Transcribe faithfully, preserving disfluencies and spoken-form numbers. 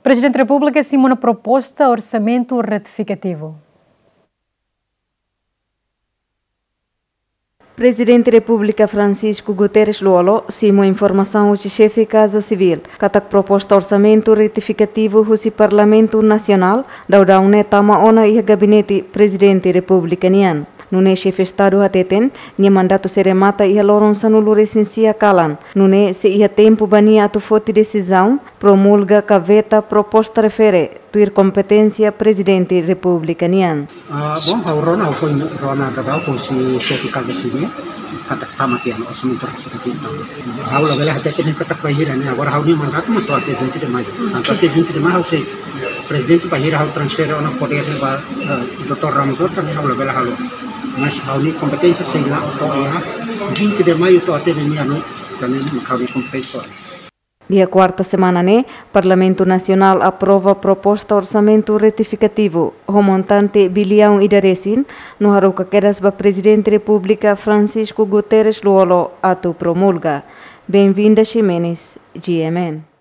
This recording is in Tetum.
Prezidente Repúblika simu ona proposta orsamentu retifikativu. Prezidente Repúblika Francisco Guterres Lú-Olo simu informasaun husi Xefe Kaza Sivíl katak proposta orsamentu retifikativu husi Parlamentu Nasionál daudaun ne'e tama ona iha gabinete Prezidente Repúblika nian. Nune'e Xefe Estadu hateten, nia mandatu sei remata iha loron sanulu-resin-sia kalan. Nune'e sei iha tempu ba nia atu foti desizaun, promulga ka veta proposta refere, tuir kompeténsia Prezidente Repúblika nian. Ah, bom, ha'u rona, ha'u foin rona daudaun husi Xefe Kaza Sivíl, katak tama tiha ona orsamentu retifikativu. Ha'u labele hatete katak bainhira ne'e, agora ha'u-nia mandatu mak to'o até vinte de maio. Entaun até vinte de maio ha'u sei, Prezidente, bainhira ha'u transfere ona podér ne'e ba, eh, doutór Ramos Horta, ne'e ha'u labele halo. Mas ha'u-nia kompeténsia sei la to'o iha vinte de maio to'o até meia-noite, entaun ne'e ha'u-nia kompeténsia to'o. Iha kuarta semana ne'e, Parlamentu Nasionál aprova proposta orsamentu retifikativu ho montante biliaun ida resin, no haruka kedas ba Prezidente Repúblika Francisco Guterres Lú-Olo atu promulga. Benvinda Ximenes, G M N.